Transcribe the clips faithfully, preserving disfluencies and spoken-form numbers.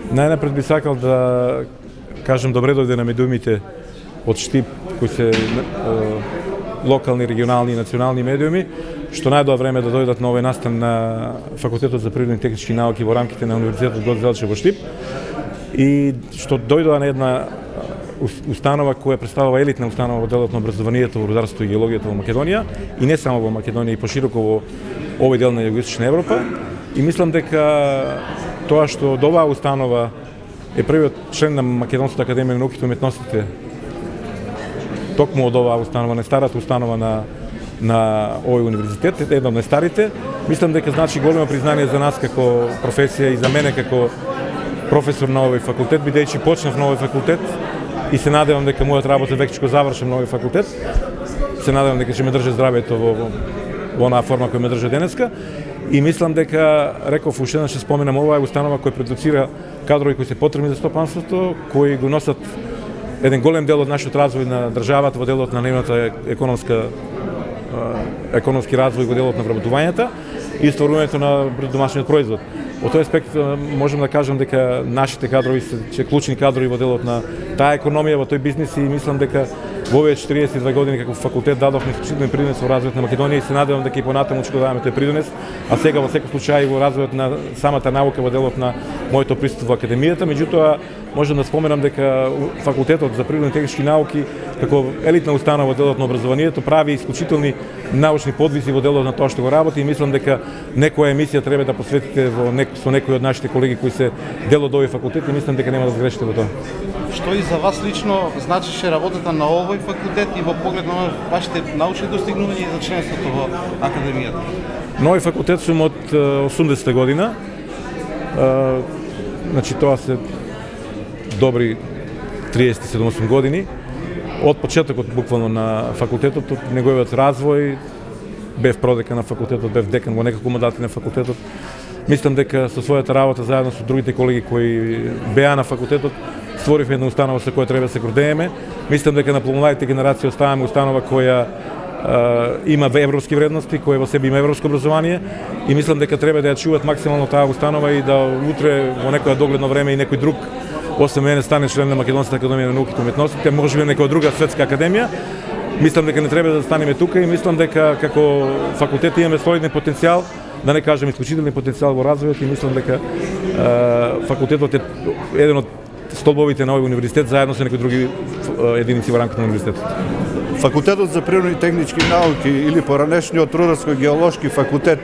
Најнапред би сакал да кажем добре дојде на медиумите од Штип, кои се локални, регионални и национални медиуми, што најдоа време да дојдат на овој настан на Факултетот за природни и технички науки во рамките на Универзитетот Гоце Делчев во Штип, и што дојдоа на една установа која представува елитна установа во делот на образованието во рударството и геологијата во Македонија, и не само во Македонија, и пошироко во овој дел на Југоисточна Европа. И мислам дека тоа што од оваа установа е првиот член на Македонската академија на науките и уметностите, токму од оваа установа, не старата установа на на овој универзитет, една од најстарите, мислам дека значи големо признание за нас како професија и за мене како професор на овој факултет, бидејќи почнав на овој факултет и се надевам дека мојот работа веќе ќе завршам на овој факултет. Се надевам дека ќе ме држи здравјето во, во, во онаа форма која ме држи денеска. И мислам дека, реков уште еднаш, ќе споменам, ова е установа која продуцира кадрови кои се потребни за стопанството, кои го носат еден голем дел од нашиот развој на државата во делот на нейната економска економски развој во делот на вработувањата и стварувањето на домашниот производ. Во тој аспект можем да кажам дека нашите кадрови се клучни кадрови во делот на таа економија, во тој бизнис, и мислам дека во овие четириесет и две години како факултет дадовме исклучителен придонес во развојот на Македонија и се надевам дека и понатаму ќе даваме тој придонес, а сега во секој случај во развојот на самата наука во делот на моето присуство во академијата. Меѓутоа, можам да споменам дека Факултетот за природни и технички науки како елитна установа во делот на образованието прави исклучителни научни подвизи во делот на тоа што го работи, и мислам дека некоја емисија треба да посветите во нек, со некои од нашите колеги кои се дел од овој факултет, и мислам дека нема да сгрешите во тоа. Што и за вас лично значеше работата на овој факултет и во поглед на вашите научни достигнувања и за членството во академијата? На овој факултет сум од осумдесета година. А, значи тоа се добри триесет и седум години. Од почетокот буквално на факултетот, од неговиот развој, бев продекан на факултетот, бев декан во неколку мандати на факултетот. Мислам дека со својата работа заедно со другите колеги кои беа на факултетот створивме една установа со која треба да се гордееме. Мислам дека на помладите генерации оставаме установа која е, има европски вредности, која во себе има европско образование, и мислам дека треба да ја чуваат максимално таа установа и да утре во некоја догледно време и некој друг освен мене стане член на Македонската академија на науките и уметностите, можеби некоја друга светска академија. Мислам дека не треба да станеме тука, и мислам дека како факултет имаме солиден потенцијал, да не кажем исклучителен потенцијал во развојот, и мислам дека е, факултетот е еден од столбовите на овој универзитет заедно со некои други единици во рамките на универзитетот. Факултетот за природни и технички науки или поранешниот Рударско-геолошки факултет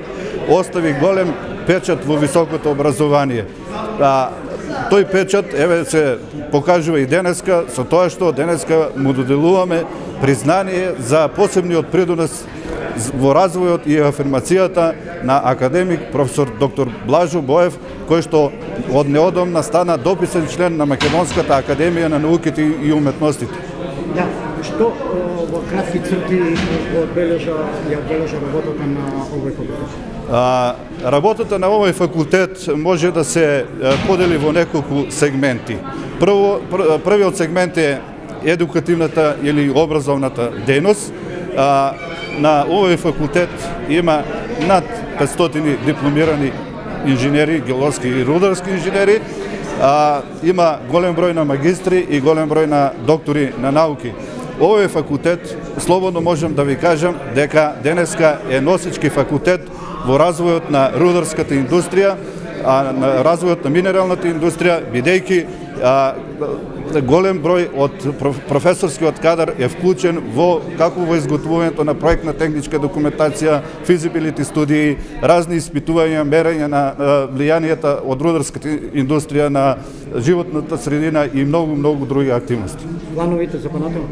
остави голем печат во високото образование. А, тој печат еве се покажува и денеска со тоа што денеска му доделуваме признание за посебниот придонес во развојот и афирмацијата на академик професор доктор Блажо Боев, кој што од неодамна стана дописен член на Македонската академија на науките и уметностите. Да, што во кратки црти одбележа ја одбележа работата на овој факултет? А, работата на овој факултет може да се подели во неколку сегменти. Прво, пр, првиот сегмент е едукативната или образовната дејност. А, на овој факултет има над петстотини дипломирани инженери, геолошки и рударски инженери, а, има голем број на магистри и голем број на доктори на науки. Овој факултет, слободно можам да ви кажам, дека денеска е носички факултет во развојот на рударската индустрија, а на развојот на минералната индустрија, бидејќи а, голем број од професорскиот кадар е вклучен во како во изготвувањето на проектна техничка документација, физибилити студии, разни испитувања, мерења на влијанието од рударската индустрија на животната средина и многу многу други активности. Плановите за понатаму?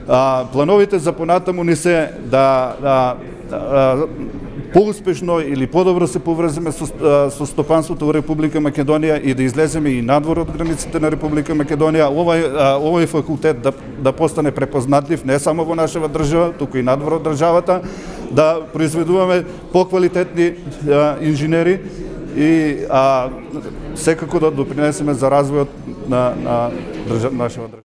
А, плановите за понатаму ни се да, да, да поуспешно или подобро се поврземе со, со стопанството во Република Македонија и да излеземе и надвор од границите на Република Македонија. Овој, овој факултет да, да постане препознатлив не само во нашава држава, туку и надвор од државата, да произведуваме поквалитетни инженери и а, секако да допринесеме за развојот на, на држава, нашава држава.